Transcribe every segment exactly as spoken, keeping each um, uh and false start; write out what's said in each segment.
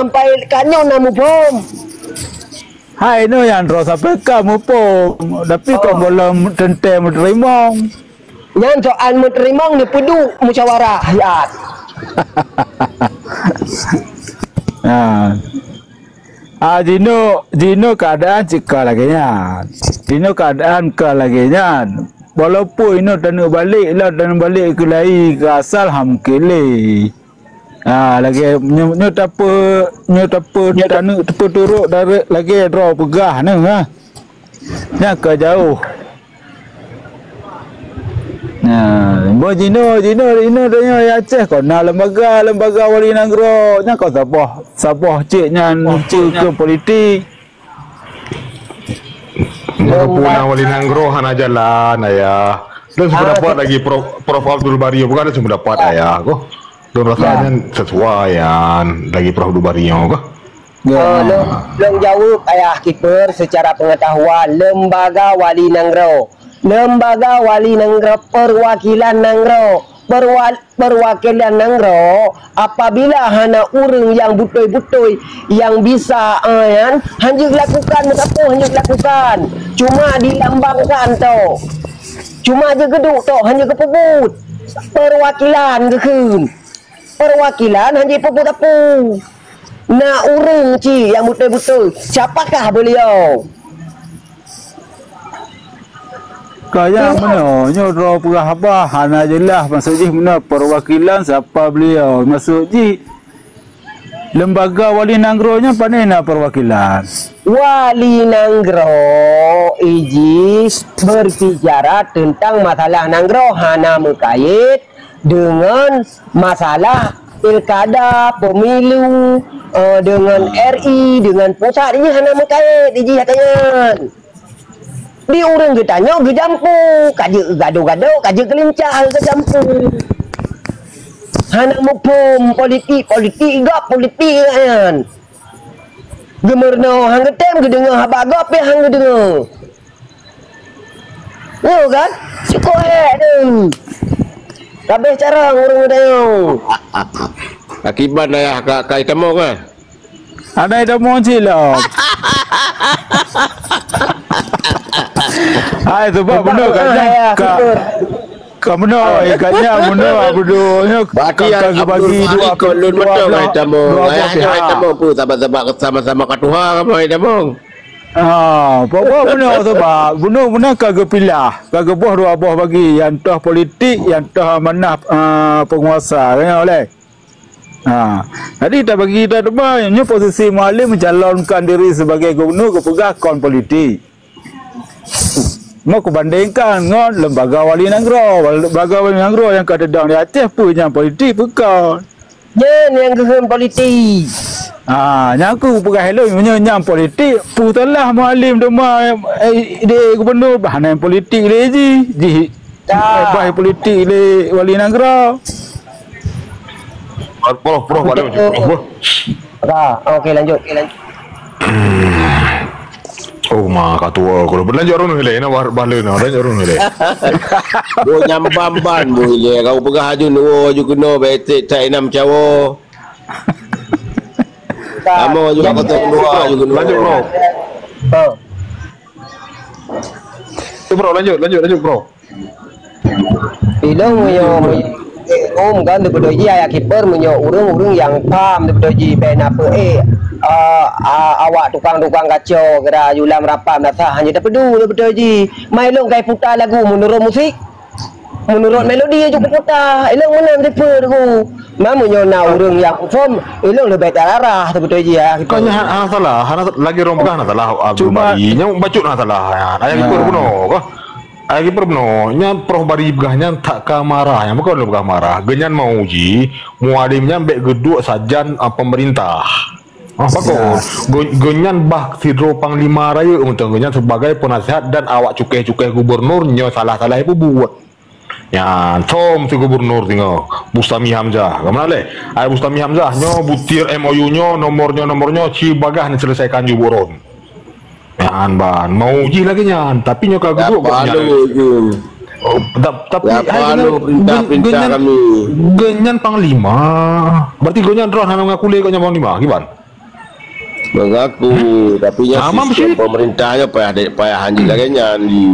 sampai ka nyoe na muphom. Hai nyoe nyang droe sampai ka muphom, tapi kon gohlom teuntèe meuteurimong. Nyan soal meuteurimong neupeuduek musyawarah siat. Nah. Ah, jinoe, jinoe keuadaan cit ka lagèe nyan. Jinoe keuadaan ka lagèe nyan. Walaupun inoe taneuk balek, lam taneuk balek keu lai, keu asal, ha mungken lé. Ah, lagèe nyoe, nyoe tape-, nyoe tape-, taneuk tapeuturot dari lagèe droe peugah nyoe, ha. Nyan ka jauh. Nah, boh jinoe, jinoe, jinoe tanyoe di Aceh kon na lembaga, lembaga wali nanggroe. Nyan kon saboh, saboh cit nyan keu, keu politik. Nyan keupeue na wali nanggroe hana jalan, Ayah. Lôn sependapat lagi Prof, Prof Abdul Bari, bukan lôn sependapat, Ayah, ko. Lôn rasa nyan sesuai nyan lagi Prof Abdul Bari nyoe, ko. Ya. Oh, lôn, lôn jaweueb, Ayah Kiper, secara pengetahuan, lembaga wali nanggroe. Lembaga wali nanggroe, perwakilan nanggroe. Perwa-, perwakilan nanggroe, apabila hana ureueng nyang beutôi-beutôi nyang bisa, eh, nyan, hanjeuet lakukan, meusapeue hanjeuet lakukan. Cuma dilambangkan tok. Cuma jeuet geuduek tok, hanjeuet geupeubuet. Perwakilan geukheun. Perwakilan hanjeuet peubuet sapeue. Na ureueng cit nyang beutôi-beutôi. Siapakah beliau? Kaya meunoe, nyoe droe peugah haba hana jeulaih, maksud jih meunoe perwakilan siapa beliau. Maksud jih lembaga wali nanggroe nyan pane na perwakilan. Wali nanggroe iji berbicara tentang masalah nanggroe, hana meukait deungon masalah pilkada, pemilu, eh, deungon R I, deungon pusat, ini hana meukait iji hata nyan. Di ureueng geutanyoe geujampu, ka jeuet gado-gado, ka jeuet geulincah geujampu. Hana muphom politik, politik gob, politik nyan. Geumeurunoe han geutem, geudeungoe haba gob pih han geudeungoe. Nyoe kan? Cukôp hék tu. Kabeh carông ureueng geutanyoe. Akibat dayah ka, ka itamong, eh? Hana itamong cit lom. Hai, sebab beuna ka nyan ka, ka meunoe, ka nyan meunoe, Abdul, nyoe ka, ka geubagi dua, dua belah, dua belah pihak. Hai tamong, peue, saban-saban sama-sama ka tuha, kamoe hai tamong. Ah, pokok bunoe sebab, bunoe, bunoe ka geupilah, ka geuboh dua boh bagi, nyang toh politik, nyang toh amanah, ah, penguasa, ka nyan lé. Ha, jadi tabagi kita teuma, nyoe posisi Mualem mencalonkan diri sebagai gubernur geupeugah kon politik. Mau kubandingkan ngon lembaga wali nanggroe, lembaga wali nanggroe nyang ka teudong di Aceh peue nyang politik peue kon. Nyan nyang geukheun politik. Ha, nyang ku peugah lôn meunyoe nyang politik, peue salah Mualem teuma, eh, di gubernur bah nyang politik lé jih, jih bah politik lé wali nanggroe. Prof, prof, ada macam prof, prof. Dah, okey lanjut. Okey lanjut. Oh, ma ka tuwo, kalau berlanjut ureueng lé, na bah, bah lé na, lanjut ureueng lé. Boh nyambam ban, boh ilé, kau peugah aju nuwo, aju keunoe, betek, tak inam cawo. Kamu aju kat kosong dua, aju keunoe. Lanjut, bro. Oh. Tu, bro, lanjut, lanjut, lanjut, bro. Ilong meunyoe, meunyoe, um, kan, teupeudoi jih ayah kiper, meunyoe ureueng-ureueng nyang pham teupeudoi jih, bèk na peuék, eh, a-, awak tukang-tukang kaco, geura yulam rapam dasah, hana tapeudu teupeudoi jih. Mai lôn kai puta lagu meunurot musik, meunurot melodi aju kuputa. Ilong meunan tipe lagu. Ma meunyoe na ureueng nyang phom, ilong leubeh tararah teupeudoi jih ayah kiper. Kan hana, hana salah, hana sa-, lagi rong peugah hana salah, Abdul Bari. Nyang bacut hana salah. Ayah kiper bunoe kah? Ai kiper bunoe, nyan Prof Bari peugah nyan that ka marah, nyan bukon lôn peugah marah. Geunyan mau uji, Mualem nyan bèk geuduek sajan, a, peumeurintah. Ah, pakon? Geu-, geunyan bah sidroe panglima rayeuk mantong, geunyan sebagai peunasihat dan awak cukéh-cukéh gubernur nyoe salah-salah peubuet. Nyan, som si gubernur singoh, Bustami Hamzah. Ka meunan lé? Ai Bustami Hamzah, nyoe butir M O U nyoe, nomor nyoe, nomor nyoe, ci bagah neuseuleusaikon ju buron. Nyan ban, mau jih lagèe nyan, tapi nyoe ka geuduek gobnyan. Oh, ta-, tapi hai geunan, geunan panglima. Berarti gobnyan droe hana mengaku lé gobnyan panglima, kiban? Mengaku, tapi nyan Ah, sistem pemerintah nyoe payah de-, payah hanjeuet lagèe nyan di.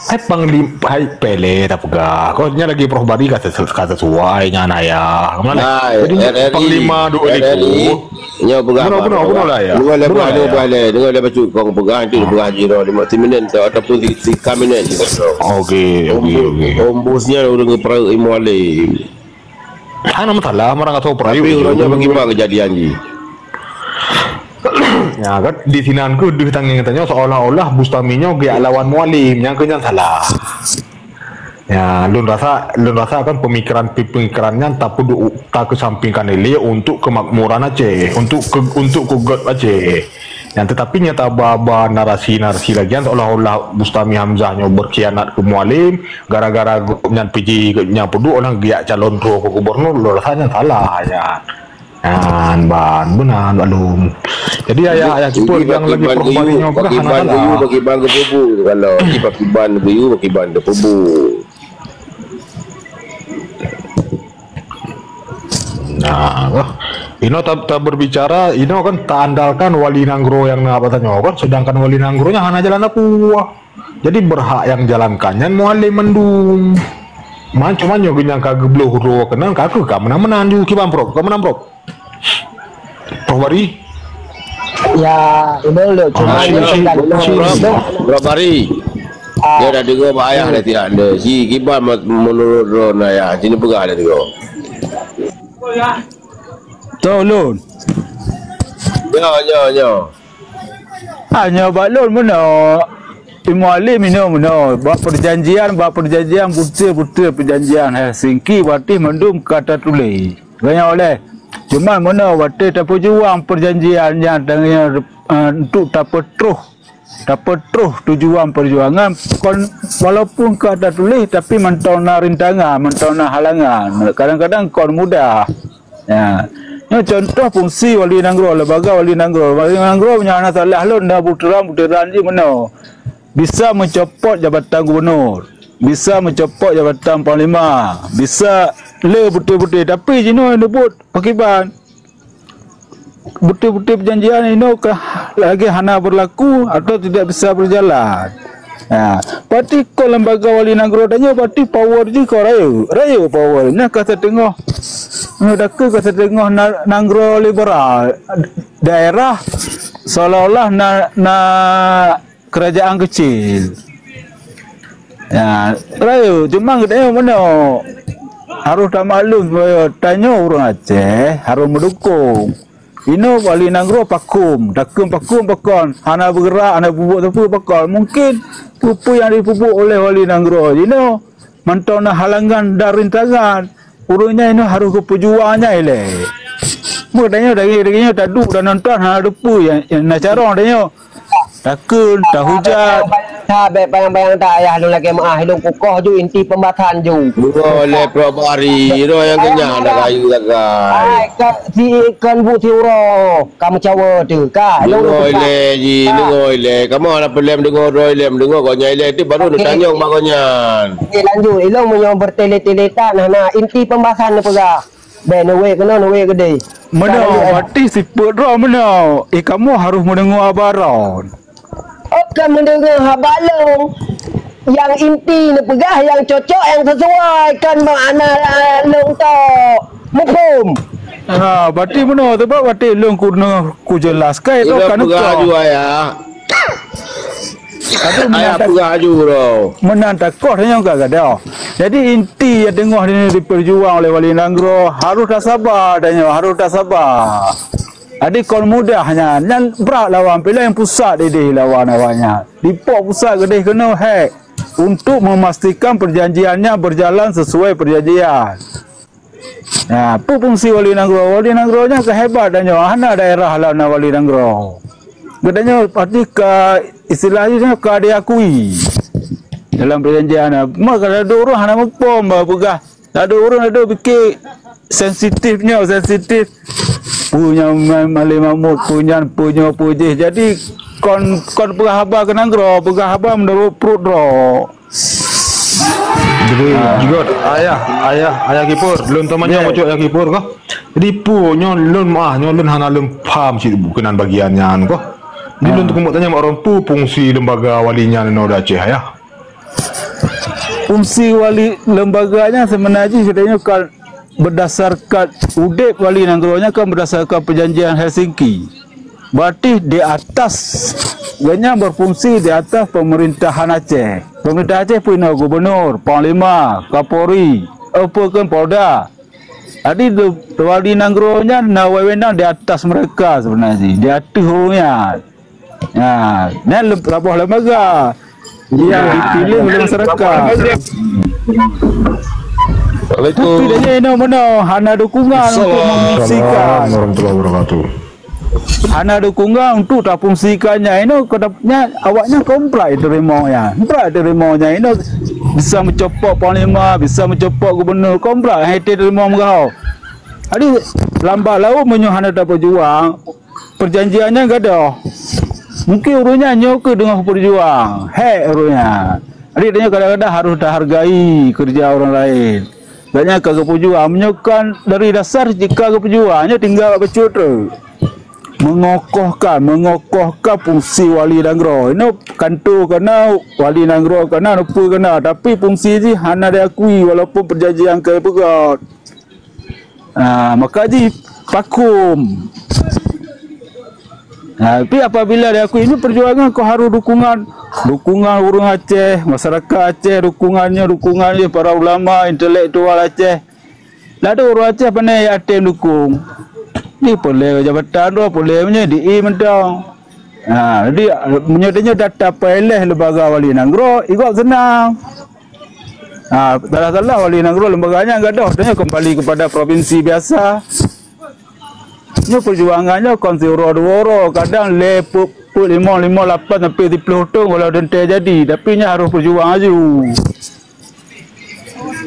Hai Panglima, hai Pele tapeugah. Kok nyan lagi Prof Bari ka sesu-, ka sesuai nyan ayah. Hai, jadi R R I, Panglima duk R R I, nyoe peugah bunoe, bunoe, bunoe lah, ya. Dengar lé, bunoe lah, ya. Dengar lé, dengar lé bacut kong peugah, itu peugah jiro lima minit tu, ataupun tiga minit gitu. Oke, oke, oke. Ombus nyan ureueng peureuek Mualem. Hana masalah, meurang atau peureuek. Tapi ureueng nyoe bagaimana kejadian jih? Ya kan, di sinan keuh deuh tangieng tanyoe seolah-olah Bustami nyoe geujak lawan Mualem, nyang keuh nyan salah. Ya, lôn rasa, lôn rasa kan pemikiran-pemikiran nyan tapeuduek, takeusampingkan ilée untuk kemakmuran Aceh, untuk ke, untuk keuget Aceh. Nyan tetapi nyata ba, ba narasi-narasi lagée nyan seolah-olah Bustami Hamzah nyoe berkhianat keu Mualem, gara-gara gobnyan piji gobnyan peuduek, orang geujak calon droe keu gubernur, lôn rasa nyan salah nyan. Nyan ban, beuna Bak Lôn. Jadi ayah-ayah kipeue nyang lagi peurubah nyoe keuh hana salah. Pakiban geuyue, pakiban geupeubuet. Kalau di pakiban geuyue, pakiban geupeubuet. Nah, inoe ta, ta berbicara, inoe kan ta andalkan wali nanggroe nyang na bak tanyoe kan, sedangkan wali nanggroe nyan hana jalan apui. Jadi berhak nyang jalankan nyan Mualem mandum. Man, cuma nyoe geunyang ka geubloe uroe keunan ka keuh ka meunan-meunan ju kiban Prof, ka meunan Prof. Prof Bari? Ya, ulôn lôn cuma Prof Bari. Dia dah dengar bak ayah dah tidak ada. Si kiban menurut droe ayah, sini peugah dah dengar. Tolong. Nyo, nyo, nyo. Hanya bak lôn meunoe. Imeum Alim inoe meunoe. Bak perjanjian, bak perjanjian, beutôi-beutôi perjanjian Helsinki watée mandum ka tatuléh. Ganyang oleh. Cuma meunoe watée tapeujuang perjanjian nyan tangieng, eh, untuk tapeutroh, tapeutroh tujuan perjuangan kon walaupun ka tatuléh tapi mantong na rintangan, mantong na halangan. Kadang-kadang kon mudah. Ya. Nyoe contoh fungsi wali nanggroe, lembaga wali nanggroe. Wali nanggroe meunyoe hana salah lôn na butiran-butiran jih meunoe. Bisa mencopot jabatan gubernur, bisa mencopot jabatan panglima, bisa le beutôi-beutôi. Tapi jinoe neubuet pakiban. Beutôi-beutôi perjanjian inoe ka lagi hana berlaku atau tidak bisa berjalan. Ha, berarti kon lembaga wali nanggroe tanyoe berarti power jih kon rayeuk, rayeuk power. Nyan ka siteungoh, nyoe dakeuh ka siteungoh na, nanggroe liberal. Daerah seolah-olah na, na kerajaan kecil. Ya, rayeuk, cuma geutanyoe meunoe harôh tamaklum supaya tanyoe ureuëng Aceh harôh meudukong. Inoe wali nanggroe pakon, takheun pakon, pakon, hana beugerak, hana peubuet sapeue pakon. Mungkin peue-peue nyang jipeubuet oleh wali nanggroe jinoe mantong na halangan dan rintangan. Ureuëng nyan inoe harôh geupeujuang nyan ilée. Meutanyoe dagée-dagée nyoe taduek dan nonton hana teupeu nyang, nyang na carông tanyoe. Takheun, tahujat. Ha, bék bayang-bayang that ayah lôn lagée meuah, lôn kukoh ju inti pembahasan ju. Beungoh lé Prof Bari, roh nyang keunyan dak kayu sagai. Ai, ka si ikan bu si uroe, ka meucawa teuh, ka. Lôn deungoe ilée ji, deungoe ilée. Kamoe hana peureulée meudeungoe droe ilée, meudeungoe gobnyan ilée, ti baru neutanyong bak gobnyan. Oke, lanjut. Ilôn meunyoe bertele-tele that, nah, nah, inti pembahasan neupeugah. Bék neuwék keunoe, neuwék keudeh. Meunoe, berarti sifeuet droe meunoe. Eh, kamoe harôh meudeungoe haba droe. Oh, ka meudeungoe haba lôn. Nyang inti neupeugah nyang cocok, nyang sesuai, kon makna lôn tok. Muphom? Ha, berarti meunoe, sebab watée lôn keunoe kujelaskan, itu kan peugah ju ayah. Tapi ayah meunan ta-, peugah ju droe. Meunan takoh tanyoe ka gadôh. Jadi inti nyang teungoh ini diperjuang oleh wali nanggroe, harôh tasaba tanyoe, harôh tasaba. Jadi kon mudah nyan, nyan brat lawan, piléh pusat ideh lawan awaknyan. Dipok pusat keudeh keunoe hék untuk memastikan perjanjiannya berjalan sesuai perjanjian. Nah, peue fungsi wali nanggroe? Wali nanggroe nyan keuhebat tanyoe, hana daerah lam na wali nanggroe. Geutanyoe pasti ka, istilah jih nyoe ka diakui dalam perjanjian. Maka ladôm ureuëng hana muphom bah peugah. Ladôm ureuëng ladôm pike sensitif nyoe, sensitif. Peue nyang ma-, malée mamut, peue nyan, peue nyoe, peue jih. Jadi kon, kon peugah haba keu nanggroe, peugah haba meunurot pruet droe. Jadi, ah, juga ayah, ayah, ayah Kipur, lôn tamanyong, ya, bacut ayah Kipur kah? Jadi, peue nyoe lôn meuah, nyoe lôn hana lôn paham cit keunan bagian nyan kah. Jadi, lôn, ah, teukeumok tanyong bak droeneuh, peue fungsi lembaga wali nyan inoe di Aceh, ayah? Fungsi wali lembaga nyan seubeuna jih geutanyoe ka berdasarkan udeb wali nanggroe nyan kan berdasarkan perjanjian Helsinki. Berarti di atas, gobnyan berfungsi di atas pemerintahan Aceh. Pemerintah Aceh peue inoe gubernur, panglima, kapolri, eh, peue kan polda. Jadi, wali nanggroe nyan na wewenang di atas mereka sebenarnya, di ateueh ureueng nyan. Ha, nyan lem-, saboh lembaga yang dipilih oleh masyarakat. Assalamualaikum. Tapi dah nyan inoe meunoe, hana dukungan untuk memfungsikan. Assalamualaikum warahmatullahi wabarakatuh. Hana dukungan untuk tafungsikan nyan inoe, keu dap-, nyan awaknyan kon brat teurimong nyan. Brat teurimong nyan inoe bisa meucopot panglima, bisa meucopot gubernur, kon brat hai teurimong meugaho. Jadi, lambat laun meunyoe hana tapeujuang, perjanjian nyan gadôh. Mungkin ureueng nyan nyoe keuh deungon peujuang, hék ureueng nyan. Jadi, tanyoe kadang-kadang harôh tahargai keureuja ureueng laén. Gobnyan ka geupeujuang, meunyoe kan dari dasar jih ka geupeujuang, nyoe tinggai bak bacut treuk. Mengokohkan, mengokohkan fungsi wali nanggroe. Inoe kanto ka na, wali nanggroe ka na, rupa ka na, tapi fungsi jih hana diakui walaupun perjanjian ka jipeugöt. Ha, maka jih vakum. Ha, tapi apabila diakui, ini perjuangan keu harôh dukungan, dukungan ureueng Aceh, masyarakat Aceh, dukungan nyoe, dukungan nyoe, para ulama, intelektual Aceh. Ladôm ureueng Aceh pane yatim dukung. Di peureulèe jabatan droe, peureulèe meunyoe di i mantong. Ha, jadi meunyoe tanyoe data peureulèe lembaga wali nanggroe, i gob seunang. Ha, salah-salah wali nanggroe lembaga nyan gadôh, tanyoe kembali kepada provinsi biasa. Nyoe perjuangan nyoe kon siuroe dua uroe, kadang lhèe peuet, peuet limong, limong lapan sampai siplôh thôn kalau teuntèe jadi, tapi nyan harôh perjuang laju.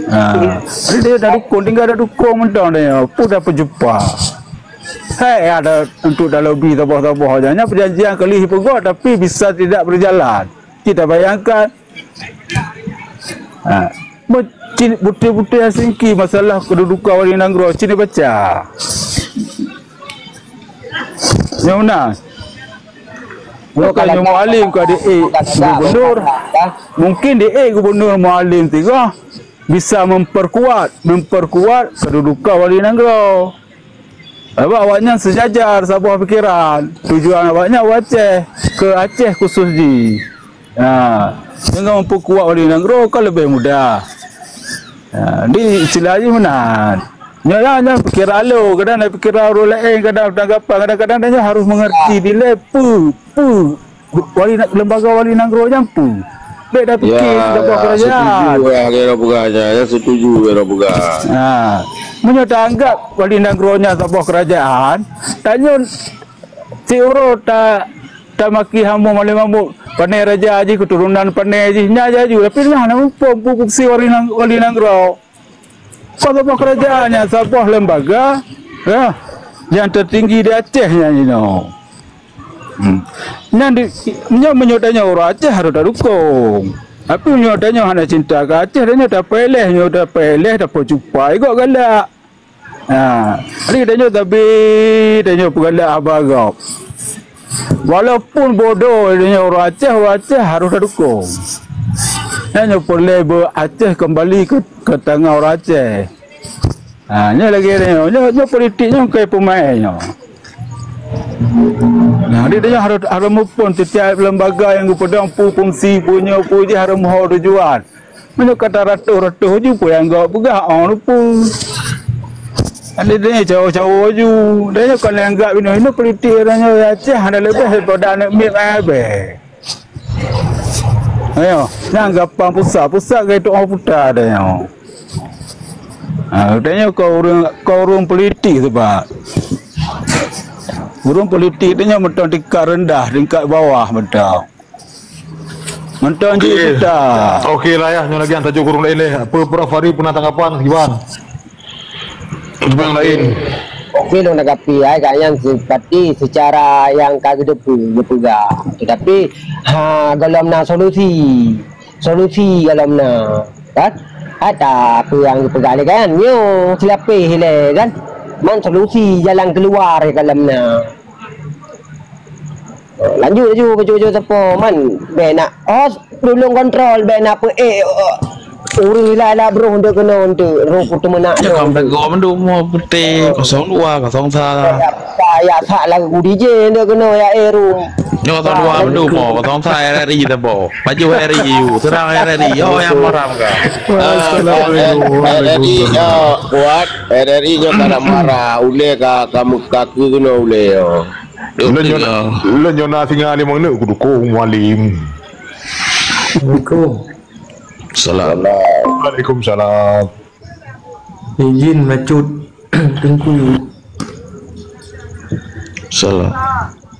Ha, jadi dia dah dukung, tinggai dah dukung mantong dia, pun dah peujupa. Hai ada untuk dah lobby saboh-saboh aja. Nyan perjanjian keu lheuh peugöt tapi bisa tidak berjalan. Kita bayangkan, ha, buti-buti Helsinki masalah kedudukan wali nanggroe, cit baca. Nyoe na. Maka nyoe Mualem ka di-ék gubernur. Mungkin di-ék gubernur Mualem tiga bisa memperkuat, memperkuat kedudukan wali nanggroe. Sabab awaknyan sejajar saboh pikeran. Tujuan awaknyan u Aceh, keu Aceh khusus jih. Ha, dengan memperkuat wali nanggroe kan lebih mudah. Ha, di istilah jih meunan. Nyoe lah, nyoe pikeran lo, kadang na pikeran ureueng laén, kadang tanggapan, kadang-kadang nyoe harôh mengerti dilèe peue, peue wali na-, lembaga wali nanggroe nyan peue. Bèk dah pikir saboh kerajaan. Ya, ya, setuju, ya, ya, setuju, ya, peugah. Ha. Meunyoe taanggap wali nanggroe nyan saboh kerajaan, tanyoe siuroe ta-, tamaki hamba malém mabök, pané raja jih, keturunan pané jih, nyan jaju. Tapi nyan hana muphom peue fungsi wali nang-, wali nanggroe. Saboh kerajaan nyan saboh lembaga, ya, yang tertinggi di Aceh nyan inoe. Hmm. Nyan di, nyan meunyoe tanyoe ureueng Aceh harôh tadukong. Tapi meunyoe tanyoe hana cinta keu Aceh, tanyoe tapeuéléh, nyoe tapeuéléh, tapeucupa, i gob galak. Ha, jadi tanyoe tabi, tanyoe peugalak haba gob. Walaupun bodoh tanyoe ureueng Aceh, ureueng Aceh harôh tadukong. Nyan nyoe peureulèe beu Aceh kembali keu, keu tangan ureueng Aceh. Ha, nyoe lagèe nyoe, nyoe, nyoe politik nyoe keu peumaén nyoe. Nah, jadi tanyoe harôh, harôh muphom setiap lembaga nyang geupeudong peue fungsi, peue nyoe, peue jih harôh meuho tujuan. Meunyoe ka taratoh-ratoh ju peue nyang geupeugah, oh, lupa. Ada dia cawo-cawo ju. Dia nyoe kon lé anggap inoe-inoe politik, dia nyoe Aceh hana leubeh daripada aneuk miet ayah bèe. Ayo, nyan gampang pusat, pusat gai tu'oh puta dia nyoe. Ha, dia nyoe kon ureueng, kon ureueng politik sebab. Ureueng politik dia nyoe mantong tingkat rendah, tingkat bawah mantong. Mantong jih kita. Okey lah ya, nyoe lagi nyang tajok ureueng laén lé. Apa Prof Fahri pernah tanggapan kiban? Kiban laén. Okey, lôn tanggapi ai ka nyan seperti secara yang ka geuteupeu geupeugah. Tetapi ha golom na solusi. Solusi golom na. Kan? Ata peue nyang geupeugah lé kan? Nyoe seulapéh ilée kan? Man solusi jalan keuluwa ka lam na. Lanjut laju bacut-bacut sapo man bèk nak hos tulông kontrol bèk nak peuék, oh, ureueng ilai-ilai broh untuk keunoe untuk roh kuteumeunak. Jangan bego mandum mau putih kosong dua, kosong satu. Ya, ya, sak lagu D J untuk keunoe ya, eh, room. Nyoe kosong dua mandum mau, kosong satu R R I tabo. Baju R I U, serang R R I. Oh, yang maram ka. Assalamualaikum. R R I nyoe kuat, R R I nyoe ka nak marah. Ulée ka, ka, ka keu keunoe ulée nyoe. Ulôn nyoe na, ulôn nyoe na singa limong neuk kudukong Mualim. Assalamualaikum. Salam. Waalaikumsalam. Izin macut Teungku. Salam.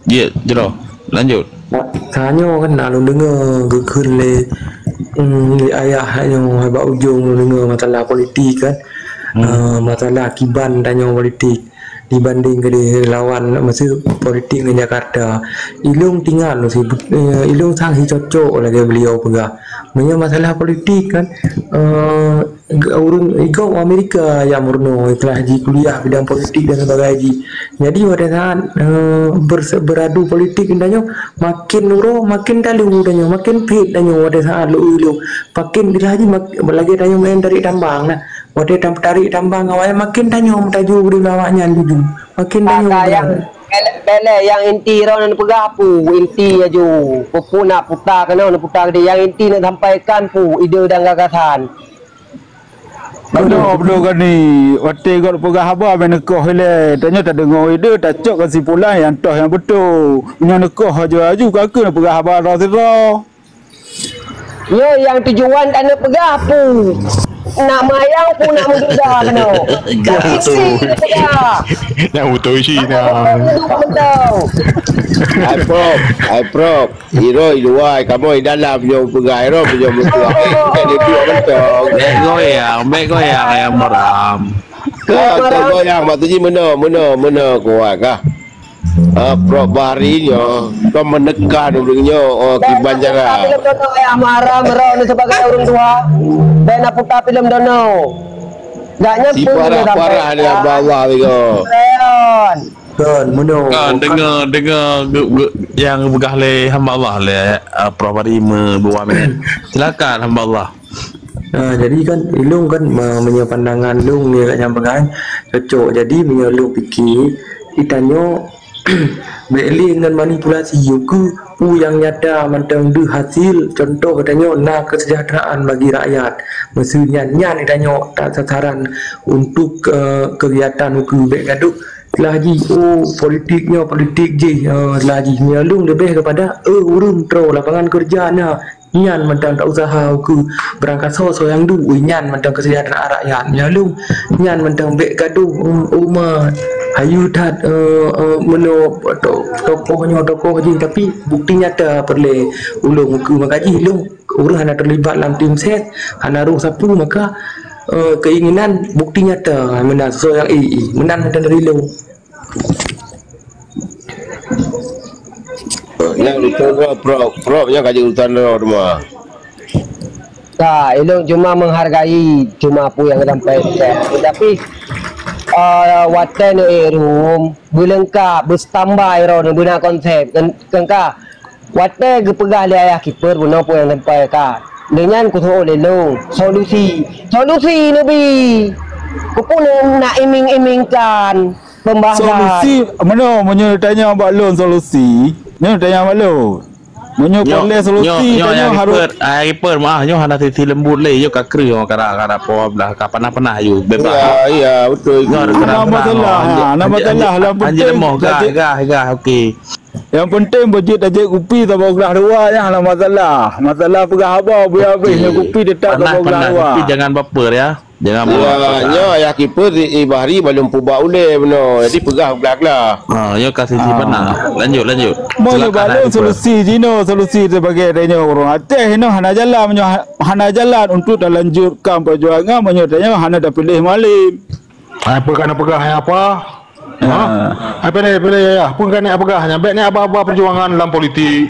Ya, jroh. Lanjut. Tanyoe kan na lôn deungoe geukheun lé, mm, lé ayah nyoe bak ujong lôn deungoe masalah politik kan. Hmm. Eh, masalah kiban tanyoe politik dibanding keudeh lawan masa politik ngon Jakarta. Ilong tinggal si, eh, ilong sang si cocok lagèe beliau peugah. Meunyoe masalah politik kan, eh, Ureueng i gob Amerika nyang meurunoe telah jikuliah bidang politik dan sebagainya jih. Jadi watèe saat, eh, berse-, beradu politik tanyoe makin uroe makin talu tanyoe, makin phet tanyoe watèe saat lôn, lôn. Makin telah jih mak-, lagèe tanyoe main tarik tambang nah. Watèe tam-, tarik tambang awaknyan makin tanyoe meutaju bri awaknyan jujur. Makin tanyoe. Ka nyang bèk lé, bèk lé, nyang inti droeneuh peugah peue, inti aju. Peue-peue nak puta keunoe, nak puta keudeh. Nyang inti nak sampaikan peue, ide dan gagasan. Beudôh, beudôh gani, watèe gob peugah haba bèk neukoh ilèe. Tanyoe tadeungoe ide, tacok keusimpulan nyang toh nyang beutôi. Meunyoe neukoh aju-aju, ka keuh neupeugah haba droe sidroe. Nyoe nyang tujuan tanyoe peugah peue. Nak meuyang peue nak meududa keunoe. Nyang beutôi. Nyang beutôi cit nyan. Nyang beutôi. Hai Prof, hai Prof. Iro i luwa, kamoe i dalam nyoe peugah, iro nyoe meutuah. Bukan di dua mantong. Bèk goyang, bèk goyang, ayah Maram. Ka, ka goyang, maksud jih meunoe, meunoe, meunoe kuat kah? Ah, Prof Bahri nyoe, kau menekan ureueng nyoe, oh, kiban cara. Ayah Maram, iro ni sebagai ureueng tuha. Bèk na puta filem dono. Gak nyan pun parah-parah dia Allah tiga. Kan, meunoe. Kan, deungoe, deungoe ge-, ge-, nyang geupeugah lé hamba Allah lé, eh, Prof Ari me-, meuwaméh. Silakan hamba Allah. Ah, jadi kan, ilong kan, me-, meunyoe pandangan long ni kat nyang peugah, cocok. Jadi, meunyoe long pike, itanyoe bèk lé ngon manipulasi, yue keu peue nyang nyata mantong deuh hasil, contoh geutanyoe na kesejahteraan bagi rakyat. Meuseu nyan, nyan geutanyoe ta-, sasaran untuk, eh, kegiatan ukeue bèk gadôh. Telah jih, oh, politik nyoe, politik jih, eh, telah jih. Meunyoe long leubeh keupada, eh, ureueng troh lapangan keureuja na. Nyan mantong ta usaha ukeue beurangkasoe soe nyang duek, nyan mantong keuseujahteuraan rakyat. Nyan lom, nyan mantong bèk gadôh, um, umat. Hayeu that, eh, eh, meunoe to-, tokoh nyoe, tokoh jih, tapi bukti nyata peureulèe ulôn ukeue. Maka jih lôn ureueng hana teulibat lam tim ses, hana rôh sapeue, maka, eh, keinginan bukti nyata meunan soe nyang, eh, eh, meunan mantong dari lôn. Nyang urusan droe, Prof. Prof nyang ka jadi urusan droe teuma. Ka, ilôn cuma menghargai cuma peue nyang sampaikan. Tapi, eh, watèe neuék room, beuleungkap, beustandby droeneuh, beuna konsep. Kan, kan ka, watèe geupeugah lé ayah keeper bunoe peue nyang sampaikan. Lé nyan kusoe lé lôn, solusi. Solusi neubi. Keupeue nak iming-imingkan? Pembahasan. Solusi, meunoe, meunyoe tanya bak lôn solusi, nyoe tanya bak lôn. Meunyoe peureulèe solusi, nyoe, nyoe tanyoe harôh. Ai, ai, Riper, maaf, nyoe hana sisi lembut lé, nyoe ka kreueh, nyoe ka ra-, ka ra-, po blah, ka panas-panas aju, bebas. Ya, ya, betul. Nyoe hana masalah, ha, hana masalah. Yang penting, gah, gah, gah, okey. Yang penting, beujeuet tajép kupi saboh glah dua, nyan hana masalah. Masalah peugah haba, buya habéh, nyoe kupi tetap saboh glah dua. Panas, panas, tapi jangan baper, ya. Jangan buat. Ya, nyoe ayah keeper di, di Bahri balum peubuet ulèe bunoe. Jadi peugah glah-glah. Ha, nyoe ka sisi panas. Lanjut, lanjut. Meunyoe bak lôn solusi jinoe, solusi sebagai tanyoe ureueng Aceh nyoe hana jalan, meunyoe ha-, hana jalan untuk talanjutkan perjuangan meunyoe tanyoe hana tapiléh Mualim. Hai peugah, hana peugah hai apa? Ha? Hai pilih, pilih ya. Peugah ni peugah nyan. Bèk ni aba-aba perjuangan dalam politik.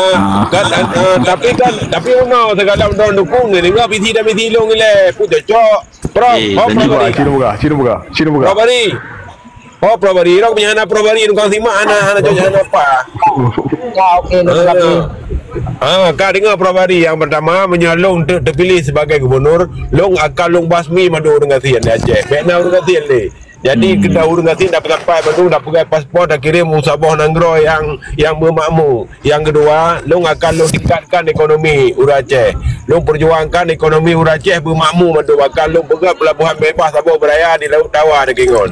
Ah, kan, ah, tapi kan, tapi unoe segala droe dukung ni, dengar visi dan misi lôn ilée, pun cocok. Prof, eh, oh, Prof Bari. Cina buka, Cina buka, Cina buka. Prof Bari. Oh, Prof Bari. Rok punya anak Prof Bari, tukang simak anak, anak cocok anak apa? Ya, oke, oke. Ah, ka dengar Prof Bari, yang pertama, meunyoe lôn te-, terpilih sebagai gubernur, lôn akan lôn basmi mandum ureuëng gasien di Aceh. Bèk na ureuëng gasien lé. Jadi, hmm, keu ureuëng gasien dapat-dapat bandum, dapat paspor, dak kirém u saboh nanggroe nyang, nyang beumakmu. Nyang keudua, lôn akan lôn tingkatkan ekonomi ureuëng Aceh. Lôn perjuangkan ekonomi ureuëng Aceh beumakmu mandum, akan lôn peugöt pelabuhan bebas saboh beuraya di Laut Dawa nyoe ngon.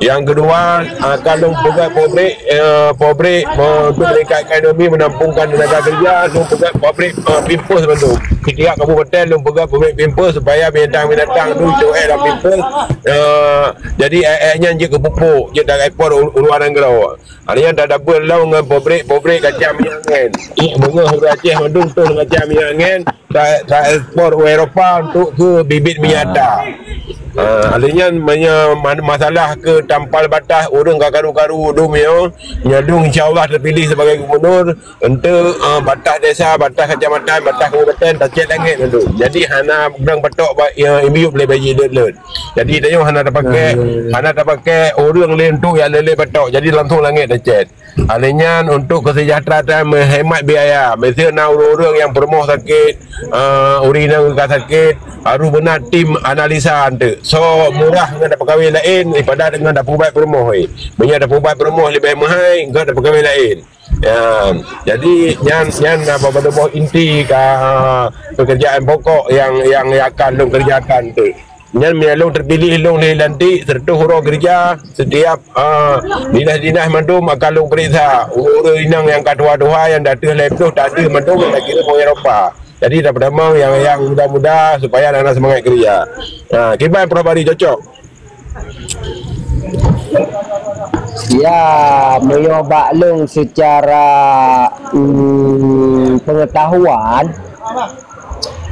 Nyang keudua, akan lôn peugöt pabrik, eh, pabrik, eh, untuk meningkatkan ekonomi, menampungkan tenaga kerja, lôn peugöt pabrik, eh, Pampers mandum. Setiap kabupaten lôn peugöt pabrik Pampers supaya binatang-binatang tu jeuet lam Pampers. Eh, jadi, eh, eh, nyan jeuet keu pupuk, jeuet taekspor u, u luar nanggroe. Hari nyan tadabel lom ngon pabrik-pabrik kacang minyeuk angén. Beungoh ureuëng Aceh mandum toh kacang minyeuk angén, ta, taekspor u Eropa untuk keu bibit minyak ta. Ha, hari nyan manya-, ma-, masalah keu tampal batas ureuëng ka karu-karu dum nyoe, nyoe dum insya Allah terpilih sebagai gubernur, untuk, eh, batas desa, batas kecamatan, batas kabupaten, tacet langét mandum. Jadi hana ureuëng patok ba, ya, imiyup lé bayi deuet-deuet. Jadi tanyoe hana tapakai, hmm, hana tapakai ureuëng lé untuk nyang lé-lé patok. Jadi langsung langét tacet. Alèh nyan untuk kesejahteraan menghemat biaya. Miseue na ureuëng-ureuëng nyang peurumoh sakét, eh, ureuëng inong ka sakét, harôh beuna tim analisa anteuk. Soe murah ngon tapeukawé laén daripada deungon tapeuubat peurumoh, eh. Meunyoe tapeuubat peurumoh leubeh meuhai, ngon tapeukawé laén. Ya, jadi nyan, nyan na boh inti ka, eh, pekerjaan pokok nyang, nyang akan lôn kerjakan tu. Nyan meunyo lôn teupiléh, lôn lé lantik seratus uroe keureuja, setiap, ah, dinas-dinas mandum akan lôn peuriksa. Ureuëng inong nyang ka tuha-tuha nyang ateueh lhée ploh, tak ateueh mandum nyang takirém ureuëng Eropa. Jadi, tapeudamong nyang, nyang muda-muda supaya na, na seumangat keureuja. Ha, kiban Prof Bari, cocok? Ya, meunyoe bak lôn secara, mm, pengetahuan,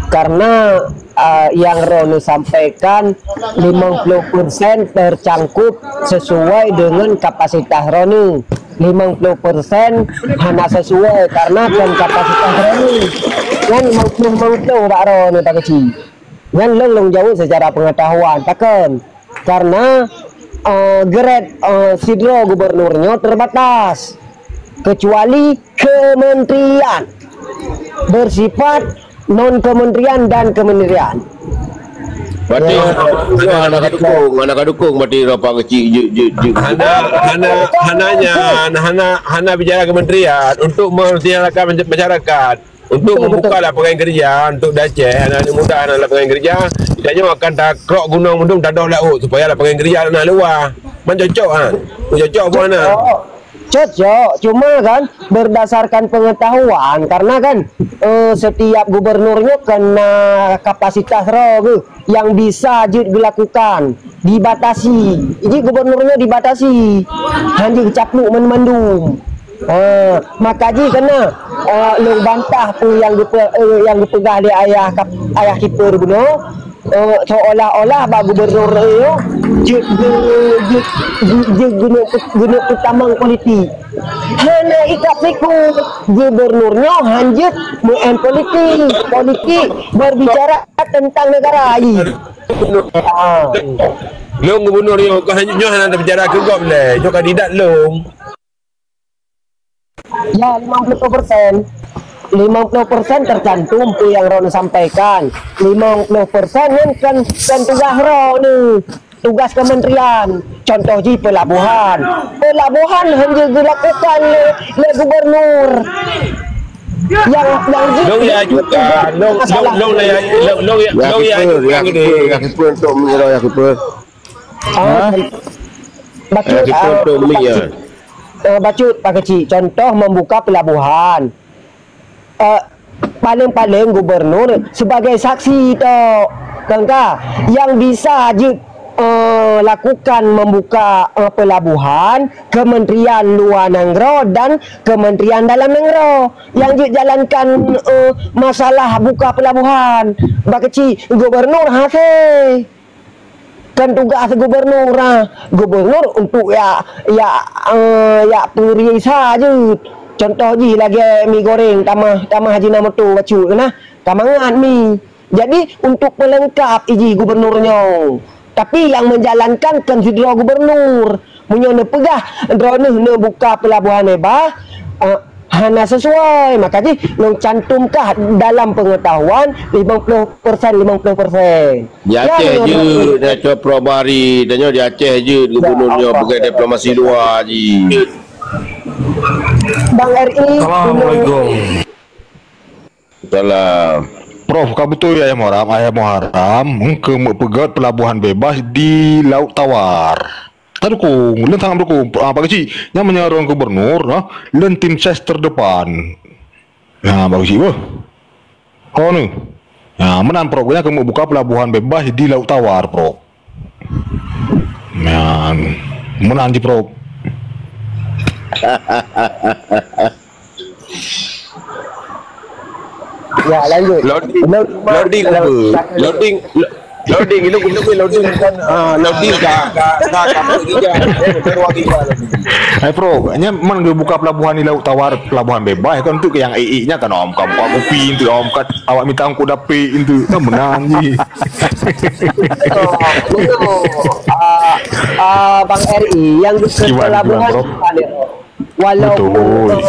karena, ah, nyang droeneuh sampaikan limong ploh persen tercangkup sesuai dengan kapasitas droeneuh. Limong ploh persen hana sesuai karena kon kapasitas droeneuh. Nyan limong ploh limong ploh bak droeneuh tak keuci. Nyan lôn, lôn jaweueb secara pengetahuan. Pakon? Karena, eh, grade, eh, sidroe gubernur nyoe terbatas. Kecuali kementerian. Bersifat non kementerian dan kementerian. Berarti, ya, hana, hana ka dukung, hana ka dukung berarti Eropa keuci, je, je, je. Hana, hana, hana nyan, hana, hana bicara kementerian untuk menyelenggarakan masyarakat. Untuk, betul, membuka, betul, lapangan kerja untuk di Aceh, anak-anak muda hana lapangan kerja, kita nyoe akan takrok gunong mandum, tadoh laôt supaya lapangan kerja na luwah. Man cocok, ha? Cocok apa hana? Cocok. Cocok. Cuma kan berdasarkan pengetahuan, karena kan, eh, setiap gubernur nyoe kena kapasitas droe geuh yang bisa jeuet geulakukan, dibatasi. Jadi gubernur nyoe dibatasi. Hana geucaplok mandum-mandum. Ha, maka jih keunan, eh, lôn bantah peue nyang geupe-, eh, nyang geupeugah lé ayah kap-, ayah keeper bunoe, eh, seolah-olah bak gubernur nyoe jeuet geu-, jeuet, jeuet, jeuet geuneuk, geuneuk peutamong politik. Hana ikat siku, gubernur nyoe hanjeuet meu'en politik. Politik berbicara tentang negara jih. Ah. Lôn gubernur nyoe, kon nyoe hana bicara keu gob lé, nyoe kandidat lôn. Ya, limong ploh persen. Limong ploh persen tercantum peue nyang droeneuh sampaikan. Limong ploh persen nyan kan, kan tugas droeneuh. Tugas kementerian. Contoh jih pelabuhan. Pelabuhan hana geulakukan lé, lé gubernur. Yang, yang jih, lôn ya juga, lôn, lôn, masalah. Lôn ya, lôn, lôn ya, ya, lôn ya, kiper, ya, juga kiper, ya, kiper untuk mengira, ya, kiper. Ah, ha? Bacut, ya, kiper, ah, untuk mi, ya. Eh, bacut, Pak Kecik, contoh membuka pelabuhan. Eh, paling-paling gubernur sebagai saksi tok. Kan ka? Yang bisa jeuet, eh, lakukan membuka, eh, pelabuhan, Kementerian Luar Nanggroe dan Kementerian Dalam Nanggroe. Yang jeuet jalankan, eh, masalah buka pelabuhan. Pak Kecik, gubernur hase. Kan tugas gubernur, ah. Gubernur untuk ya, ya, eh, ya peurisa jeuet. Contoh jih lagée mi goreng tamah, tamah Ajinomoto bacut nah. Ka mangat mi. Jadi untuk pelengkap ijih gubernur nyoe. Tapi yang menjalankan kan sidroe gubernur. Meunyoe neupeugah droeneuh neubuka pelabuhan bebas, eh, hana sesuai, maka jih lôn cantumkah dalam pengetahuan limong ploh persen, limong ploh persen. Di Aceh jeuet, dah cok Prof Bari, tanyoe di Aceh jeuet gubernur nyoe peugah diplomasi luar jih. Bang R I, Assalamualaikum. Salam. Prof, ka beutôi Ayah Muharam, Ayah Muharam, engkeu meupeugét pelabuhan bebas di Laut Tawar. Tadukung, lôn sangat mendukung. Ah, Pak Kecik, nyan meunyoe droen gubernur, nah, lôn tim ses terdepan. Nah, Pak Kecik, beuh. Ho nyoe. Nah, meunan Prof, nyan keuneuk buka pelabuhan bebas di Laut Tawar, Prof. Nah, meunan jih, Prof. Ya, lanjut. Loading, loading apa? Loading, lo-, loading, itu, itu loading kan, ah, loading ka, ka, ka, ka, ka, ka, ka, ka, ka, loading. Hai, Prof, nyan man geubuka pelabuhan di Laut Tawar, pelabuhan bebas, kan tu nyang ék-ék nyan kan, om, ka buka kupi tu, om, ka awak mita angkut dapet tu, kan meunan jih. Betul, betul. Ah, ah, Bang R I, yang di pelabuhan, Prof? Walaupun, betul, eh,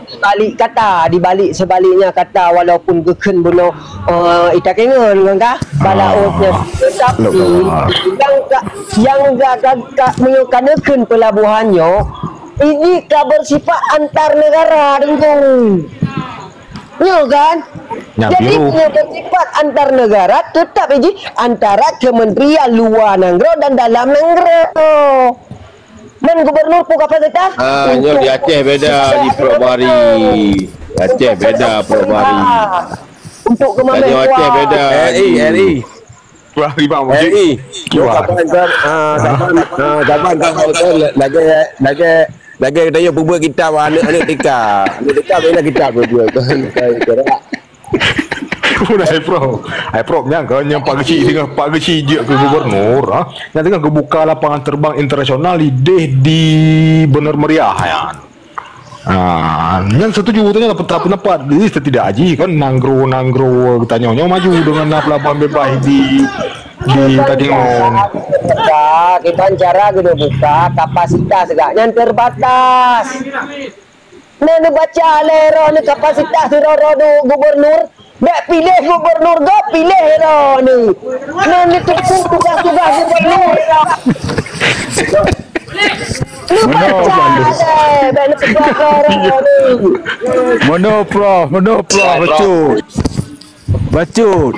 di balik kata, di balik sebaliknya kata, walaupun geukheun bunoe, eh, ita kengon ngon kah, balaôt nyan. Tapi nyang ka, nyang ka, ka, ka, meunyoe ka neukheun pelabuhan nyoe, ini ka bersifat antar negara, Teungku. Nyoe kan? Nyang Jadi, biru. Nyoe bersifat antar negara tetap iji antara kementerian luar nanggroe dan dalam nanggroe. Man gubernur pun kapasitas Ah, nyoe untuk di Aceh beda, di Prof Bari. Di Aceh beda, Prof Bari. Untuk kemampuan. Tanya Aceh beda. R I, R I. Wah, lima R I. Wah. Kapan kan, ah, kapan, ah, kapan kan, kan, lagi, lagi, lagi kita yuk buat kitab aneuk-aneuk tika. Aneuk tika bela kitab buat. Udah, hai, Prof. Hai, Prof, nyang ke, nyang Pak Geuchik tengah, Pak Geuchik jeuet keu gubernur, ha? Nyang tengah geubuka lapangan terbang internasional ideh di Bener Meriah, ya. Ah, nyang setuju tanya pendapat, pendapat di setidak aji kan nanggroe-nanggroe geutanyoe nyoe maju dengan na pelabuhan bebas di, di Takengon. Kita cara geuneuk buka kapasitas gak nyan terbatas. Nah, neubaca lé roh ni kapasitas sidroe-droe gubernur. Bèk piléh gubernur gob, piléh droeneuh. Nyan neuteupeue tugaih-tugaih gubernur. Neubaca lé, bèk neuteupeue droeneuh. Meunoe, Prof, meunoe, Prof, bacut. Bacut.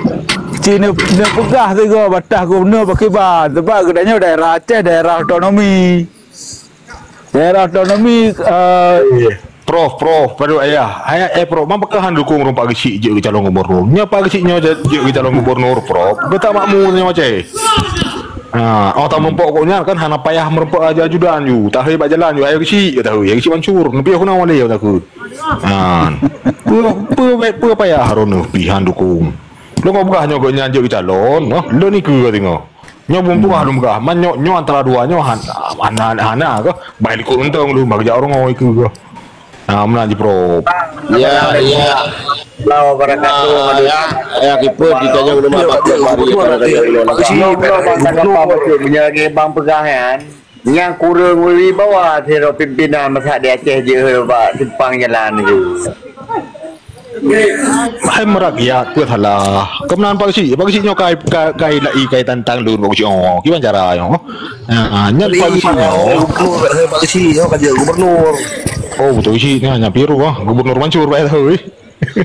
Ci neu-, neupeugah sigoe bataih gubernur pakriban. Sebab geutanyoe daerah Aceh, daerah otonomi. Daerah otonomi, eh, Prof, Prof, padum ayah. Ayah, eh, Prof, man pakon han dukung ureueng Pak Geuchik jeuet keu calon gubernur? Nyoe Pak Geuchik nyoe jeuet keu calon gubernur, Prof. Geutak makmu nyoe Aceh. Ha, oh, tameureumpok kok nyan kan hana payah meureumpok aja ajudan ju. Tahe bak jalan ju, ayah Geuchik, tahe, ayah Geuchik Mansur. Neupiyôh keunoe malèe takheun. Ha. Peue, peue, peue payah droeneuh pih han dukung. Lôn peugah nyoe gobnyan jeuet keu calon, noh. Lôn ikeu singoh. Nyoe bumbong lôn peugah, man nyoe, nyoe antara dua nyoe han-, hana, hana keuh. Bai likot untông lôn bak jak ureueng ngon ikeu keuh. Ha, meunan jih, Prof. Ya, ya. Allahu wabarakatuh. Ah, ya, ya, kipeue ditanyong rumah Pak Kiai Fahri, ya, kadang-kadang lôn. Meunyoe lagèe bang peugah nyan, nyang kureueng wibawa sidroe pimpinan masa di Aceh jeuet bak simpang jalan nyoe. Hai meurakyat, peue salah? Keumeunang Pak Geuchik, Pak Geuchik nyoe kai, kai, kai lai, kai tantang lôn Pak Geuchik. Oh, kiban cara nyoe? Ha, nyan Pak Geuchik nyoe. Gubernur, Pak Geuchik nyoe ka jeuet gubernur. Oh, beutôi Geuchik nyan, nyan piru ah. Gubernur Mansur, Pak, eh, tahu, eh.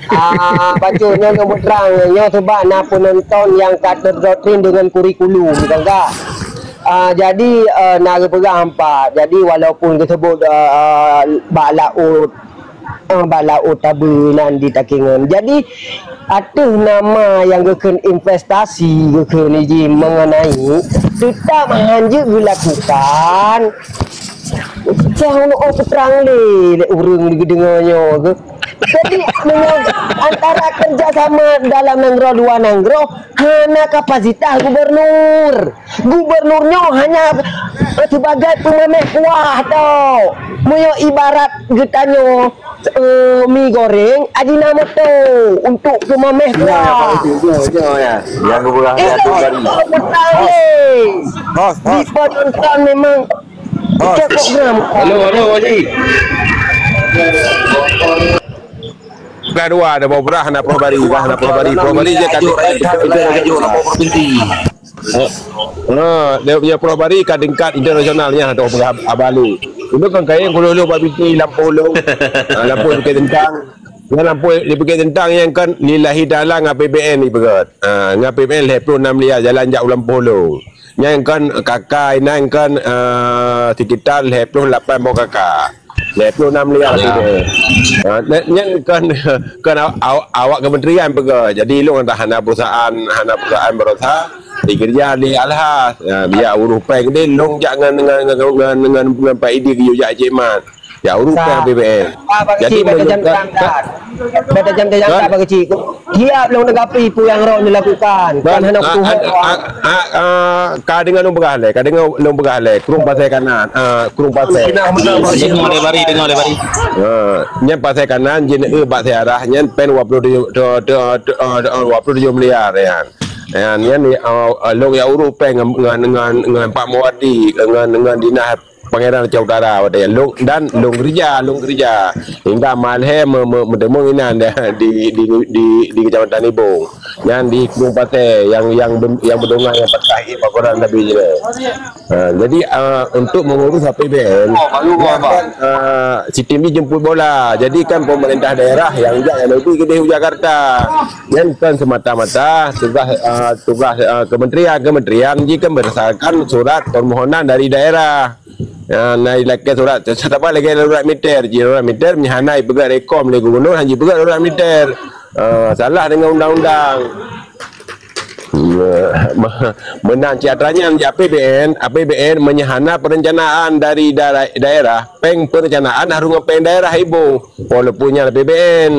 Ah, bacut nyoe, nyoe beutrang. Nyoe sebab na peunonton nyang ka terdoktrin dengan kurikulum, kan, Kak? Ah, jadi, eh, na geupeugah empat. Jadi, walaupun geusebut, eh, bak laôt, eh, bak laôt tabeue nan di Takengon. Jadi, ateueh nama nyang geukheun investasi, geukheun iji mengenai, teutap han jeuet geulakukan. Cah uneuk oh peutrang lé, lé ureueng geudeungoe nyoe geuh. Jadi, meunyoe antara kerjasama dalam nanggroe luwa nanggroe, hana kapasitas gubernur. Gubernur nyoe hanya sebagai peumamèh kuah tok. Meunyoe ibarat geutanyoe, eh, mi goreng, Ajinomoto untuk peumamèh kuah. Nyoe, nyoe, nyoe, ya. Yang gubernur Eh, tu baru. Hos, hos. Di penonton memang Halo, halo, Haji. Bukan dua, ada Prof Bari, dah ada Prof Bari, dah ada Prof Bari, Prof Bari je kan. Ha, dia punya Prof Bari kan tingkat internasional nya, ada Prof Abali. Itu kan kain gulu-gulu bak binti lampôh lu. Ha, lampôh bukit tentang. Nyan lampôh di bukit tentang nyang kan lillahi ta'ala ngon A P B N ipeugöt. Ha, ngon A P B N lhèe plôh nam miliar jalan jak u lampôh lu. Nyan kan K K inan kan, eh, sekitar lhèe plôh lapan boh K K. Lhèe plôh nam miliar. Ya. Gitu. Ha, nyan, nyan kan, kan aw-, aw-, awak kementerian peugah. Jadi, lôn dah hana perusahaan, hana perusahaan baroesa, dikeureuja lé Alhas. Ya, biar urus péng deh, lôn jak ngon, ngon, ngon Pak Idi geuyue jak Cik Man. Ya, urus péng A P B N. Jadi, meunyoe ka, ka, Bak tajam-tajam kan? Bak keuchik. Siap lôn tanggapi peue nyang rot dilakukan. Kan hana kutuho. Ka deungoe lôn peugah lé, ka deungoe lôn peugah lé. Krueng Pasai Kanan, ah, Krueng Pasai. Deungoe lé Bari, deungoe lé Bari. Ah, nyan Pasai Kanan, jeuet bak siarah, nyan péng dua puluh tujuh, dua puluh tujuh miliar, nyan. Nyan, nyan, ah, lôn jak urus péng ngon, ngon, ngon, ngon Pak Muwardi, ngon, ngon dinas Pangeran Aceh Utara watèe nyan. Lôn, dan lôn keureuja, lôn keureuja. Hingga malhèe me-, me-, meuteumeung inan di, di, di, di Kecamatan Ibong. Nyan di Krueng Pasè nyang, nyang ben-, nyang beudongan nyang patah ié pakoran Nabi jinoe. Ha, jadi, ah, untuk mengurus A P B N, oh, baru nyan kan, ah, sistem jih jemput bola. Jadi kan pemerintah daerah nyang jak nyang leubeh keudeh u Jakarta. Nyan kon semata-mata tugas, ah, tugas, ah, kementerian. Kementerian jih kan berdasarkan surat permohonan dari daerah. Ah, na ilakèe surat, saba lagèe darurat militer. Jih darurat militer, meunyo hana ipeugöt rekom lé gubernur, hana ipeugöt darurat militer. Ah, salah dengan undang-undang. Me-, meunan cit atra nyan di A P B N, A P B N meunyo hana perencanaan dari daerah, daerah, péng perencanaan harôh ngon péng daerah iboh, walaupun nyan A P B N.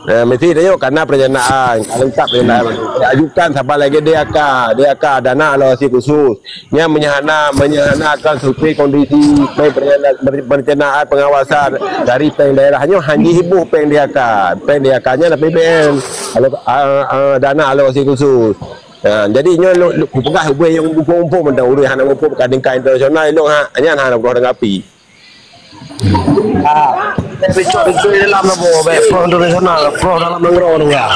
Eh, mesti tanyoe kana perencanaan, ka leungkap perencanaan. Ajukan saba lagèe D A K, D A K, dana alokasi khusus. Nyan meunyo hana, meunyo hana akan survei kondisi péng perencanaan, perencanaan pengawasan dari péng daerah nyoe hana iboh péng D A K. Péng D A K nyan A P B N. Alok-, ah, ah, dana alokasi khusus. Ha, jadi nyoe lôn, lôn kupeugah ubé nyang muphom-muphom mantong ureueng hana muphom ka tingkat internasional lôn ha, nyan hana peureulèe tanggapi. Ah, betul, betul dalam labo, baik, pro internasional, pro dalam nanggroe tu ya.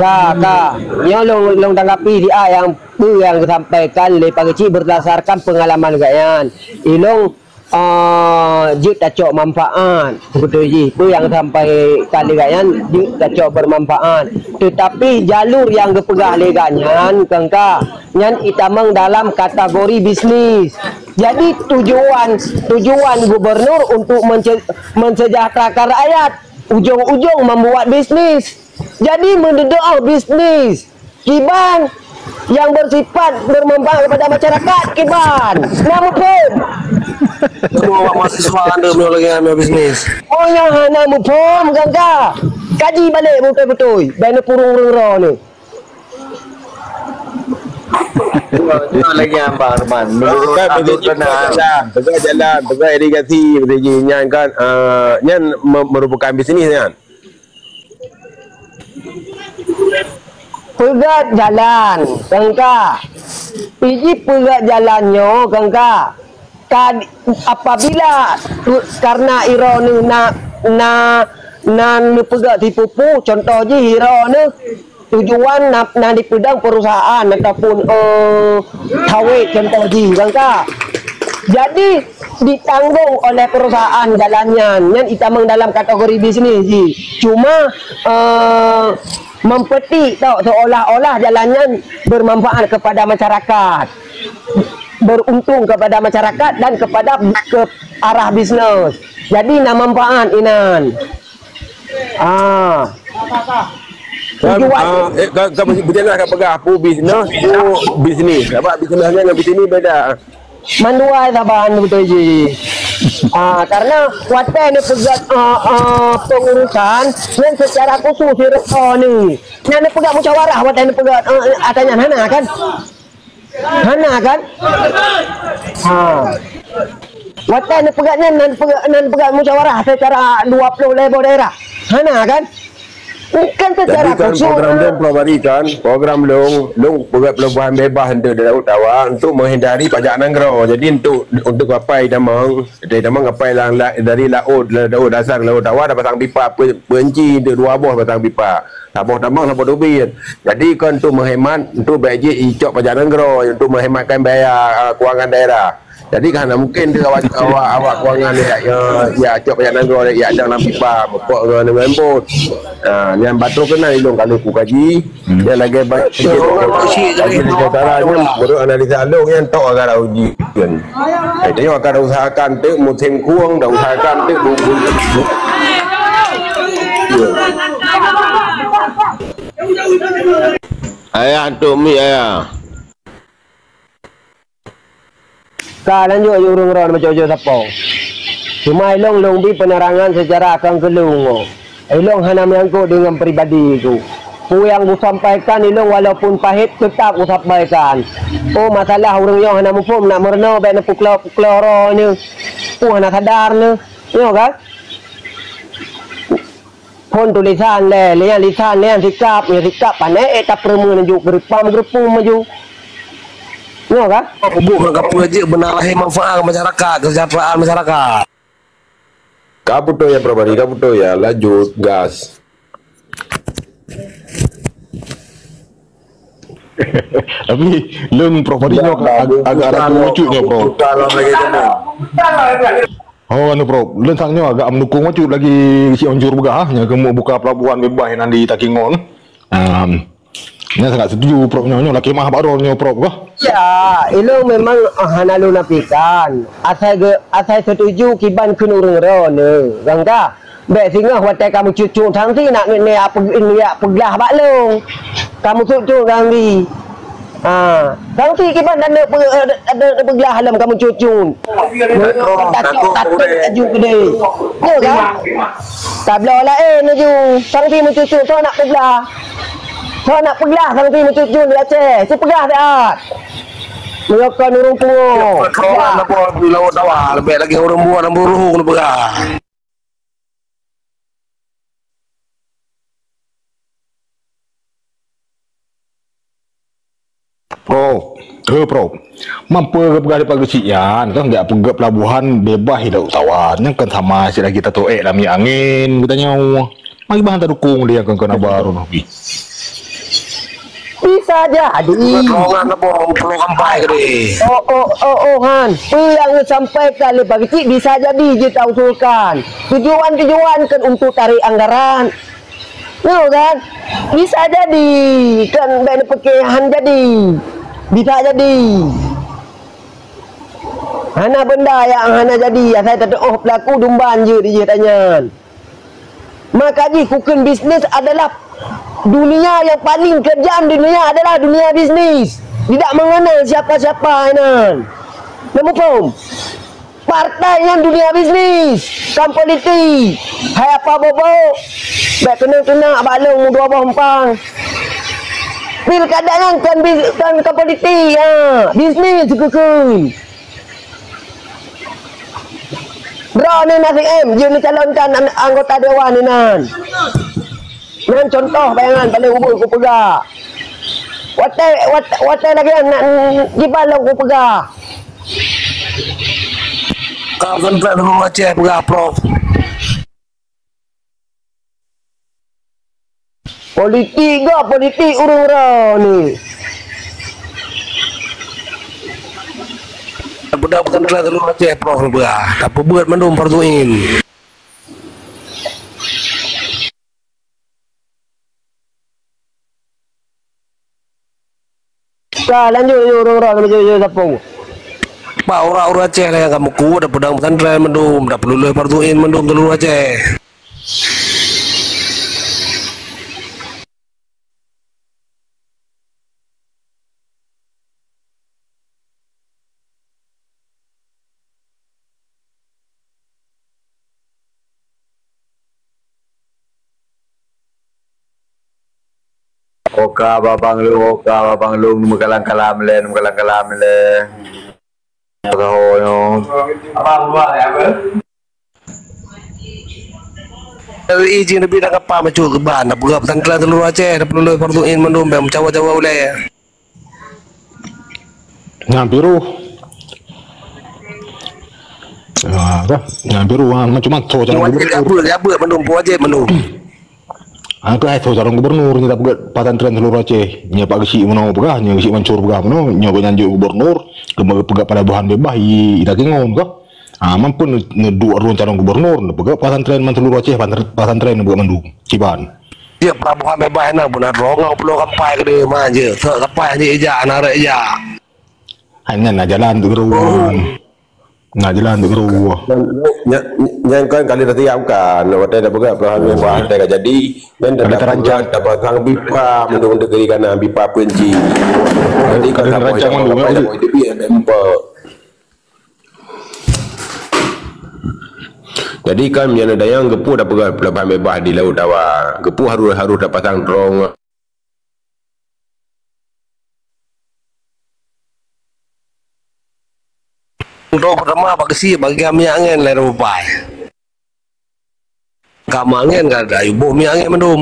Ka, ka. Nyoe lôn, lôn tanggapi di a nyang peue nyang geusampaikan lé Pak Geuchik berdasarkan pengalaman gobnyan. Ilôn, ah, jeuet tacok manfaat. Beutôi jih, peue nyang sampaikan lé gobnyan jeuet tacok bermanfaat. Tetapi jalur nyang geupeugah lé gobnyan, keungka, nyan itamong dalam kategori bisnis. Jadi tujuan, tujuan gubernur untuk mence-, mensejahterakan rakyat, ujung-ujung membuat bisnis. Jadi meududoe bisnis kiban nyang bersifat bermanfaat kepada masyarakat kiban. Na muphom? Semua awak mahasiswa anda menolong yang ambil bisnis. Oh, nyang hana muphom, keungka. Kaji balek beutôi-beutôi. Bèk neupurong ureueng droeneuh. Cuma, cuma lagi Abang Arman. Menurut kan, Abdul betul, Kenan. Jalan, peugah jalan, peugah irigasi, betul ji. Nyan kan, ah, nyan me-, merupakan bisnis nyan. Peugah jalan, keungka. Iji peugah jalan nyoe, keungka. Ka, apabila tu, karena droeneuh na, na, na neupeugah tipu-tipu, contoh jih droeneuh tujuan na, na dipeudong perusahaan ataupun, eh, sawét contoh jih, keungka. Jadi, ditanggung oleh perusahaan jalan nyan, nyan itamong dalam kategori bisnis jih. Cuma, eh, mempetik tau seolah-olah jalan nyan bermanfaat kepada masyarakat, beruntung kepada masyarakat dan kepada ke arah bisnis. Jadi na manfaat inan. Ah. Kan, tujuan ah, eh, kan, kan berjalan kat peugah apa bisnes tu bisnis. Apa bisnes dengan bisnis beda. Mandua saban beutôi ji. Ah, karena watèe neupeugah, ah, ah, pengurusan nyan secara khusus di restoran ni. Nyan neupeugah musyawarah watèe neupeugah, ah, ata nyan hana kan? Hana kan? Ha. Watèe neupeugah nyan nan peugah, nan peugah musyawarah secara dua puluh lhèe boh daerah. Hana kan? Bukan secara khusus. Jadi kan program lôn pulo bari kan, program lôn, lôn peugah pelabuhan bebas untuk di Laut Tawa untuk menghindari pajak nanggroe. Jadi untuk, untuk kapai tamong, dari tamong kapai la-, la-, dari laut, laut dasar, laut tawa dah pasang pipa pe-, penci untuk dua boh pasang pipa. Saboh tamong, saboh tubit. Jadi kan untuk menghemat, untuk bèk jih icok pajak nanggroe, untuk menghematkan biaya, ah, kewangan daerah. Jadi kan hana mungkin tu awak, awak, awak kewangan ya, ya, ya cok pajak nanggroe ya dalam pipa, mupok dengan, dengan bot. Ha, nyan batul keunan ilôn kalau ku kaji, dia lagi baik sikit. Jadi di utara ni menurut analisa lôn yang tok akan uji kan. Eh, tengok akan usahakan tu musim kuang dah usahakan tu bu-, bu-, bu-, Ayah tu mi ayah. Ka lanjut ju ureueng ron baco-baco sapo. Cuma ilong long bi penerangan secara akang keulung. Ilong hana menyangkut dengan pribadi ku. Peue nyang kusampaikan ilong walaupun pahit tetap kusampaikan. Oh, masalah ureueng nyoe hana muphom nak meurunoe bèk neupuklo-puklo roh nyoe. Peue hana sadar nyoe. Nyoe kan? Phon tulisan lé, lé nyang lisan, lé nyang sikap, nyang sikap pané ék tapeureumeun laju geuripam geuripum laju. Nyoe kan? Peubuet ngon kapeue jeuet beuna lahé manfaat keu masyarakat, kesejahteraan masyarakat. Ka beutôi ya, Prof Bari, ka beutôi ya. Lanjut, gas. Tapi lôn Prof Bari nyoe agak, agak ragu ucut nyoe, Prof. Oh, anu, Prof. Lôn sang nyoe agak meudukung bacut lagi si Onjur peugah, nyang keuneuk buka pelabuhan bebas nan di Takengon. Ehm, nyan sangat setuju, Prof, nyoe, nyoe lakée mah bak droe nyoe, Prof, kah? Ya, ilôn memang hana lôn nafikan. Asai ge-, asai setuju kiban kheun ureuëng droeneuh, kan kah? Bék singoh watée ka meucut-cut sanksi nak, nak, nak pe-, nak peuglah bak lôn. Ka meucut-cut sanksi. Ha, sanksi kiban dan ada pe-, ada, ada peuglah lom ka meucut-cut. Takot, takot laju keudeh. Ya kan? Tabloe laén laju. Sanksi meucut-cut, soe nak peuglah? Soe nak peuglah sanksi meucut-cut di Aceh? Sipeugah siat. Meunyoe kon ureuëng pungo. Peugah. Lawan tawa, lebih lagi ureuëng buah dan buruh kena peugah. Prof, eh, Prof. Mampu geupeugah di pagi siang, kan, jak peugah pelabuhan bebas hidup tawar. Nyan kan sama sira kita toek lam minyak angin, kita nyawa. Mari bahan tadukung dia kan, kan baru nabi. Bisa jadi. Rombongan apa, pulau kampai ke deh? Oh, oh, oh, oh, Han. Apa yang disampaikan oleh Pak Kecik bisa jadi je tak usulkan. Tujuan-tujuan kan untuk tarik anggaran. Nyoe kan? Bisa jadi. Kan baik dipakai han jadi. Bisa jadi. Hana benda yang hana jadi. Asai tatuoh pelaku dumban je dijih tanyan. Maka jih kukheun bisnis adalah dunia yang paling kejam di dunia adalah dunia bisnis. Tidak mengenal siapa-siapa inan. Nampak? Partai nyan dunia bisnis, kan politik. Hai apa bobo? Bèk keuneuk teunak bak lôn dua boh umpang. Pilkada nyan kan bis-, kan, kan politik, ha. Bisnis keukeue. Droeneuh na C M, jeuet neucalonkan an-, anggota dewan inan. Nyan contoh bayangan paléng ubeut kupeugah. Watèe, wat-, watèe lagèe nyan, jiban lôn kupeugah. Ka kontrak Teungku Aceh peugah, Prof. Politik gop, politik ureueng droeneuh. Budak pesantren Teungku Aceh, Prof, peugah. Tapeubeuet mandum Fardhu Ain. Ka lanjut, lanjut, ureueng-ureueng, lanjut, lanjut, sapeue? Bah, ureueng-ureueng Aceh lah nyang ka meukeue, dan peudong pesantren mandum, dan peululus Fardhu Ain mandum seuluruh Aceh. Oka babang lôn, oka babang lôn, meukalam-kalam lé, meukalam-kalam lé. Saho nyoe. Dari izin Nabi dah kapal macam ke ban, dah peugah pesantren seuluruh Aceh, dah peululus Fardhu Ain mandum, bèk meucawa-cawa ulèe. Nyan piruh. Ah, dah. Nyan piruh, ah, macam mana tu cara gubernur? Wajib, wajib mandum, wajib mandum. Ah, tu hai tu calon gubernur nyoe dah peugah pesantren seuluruh Aceh. Nyoe Pak Geuchik meunoe peugah, nyoe Geuchik Mansur peugah meunoe, nyoe gobnyan jeuet gubernur, keuneuk peugah pelabuhan bebas i, i Takengon kah. Ah, mampu ne-, neuduek droen calon gubernur, neupeugah pesantren man seuluruh Aceh, pesantren, pesantren neupeugah mandum. Kiban. Ya, pelabuhan bebas na pun na droe ngon pulo kampai keudeh ma je. Sok kampai je ijak, na rek ijak. Hai nyan na jalan tu keudroe. Na jalan tu keudroe. Nya, nya, nyan kan kali dah tiap kan. Watèe dah peugah pelabuhan bebas, watèe ka jadi. Nyan dah terancang. Dah pasang pipa, mandum negeri kana pipa peunci. Jadi kan dah rancang mandum, ya, jadi kan nyan ada nyang geupeu dah peugah pelabuhan bebas di Laut Dawa. Geupeu harôh, harôh dah pasang droen. Droe peurtama bak geusie bagian minyak angén lé rupai. Ka minyak angén ka ada, boh minyak angén mandum.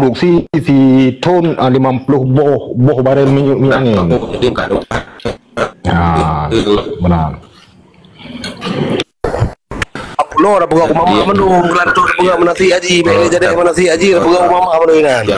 produksi sithon, ah, limong ploh boh, boh barel minyeuk, minyeuk angin. Ha, meunan. Apulo dah peugah u mama mandum, gelantoh dah peugah meunasih haji, bèk lé jadi meunasih haji dah peugah u mama mandum inan.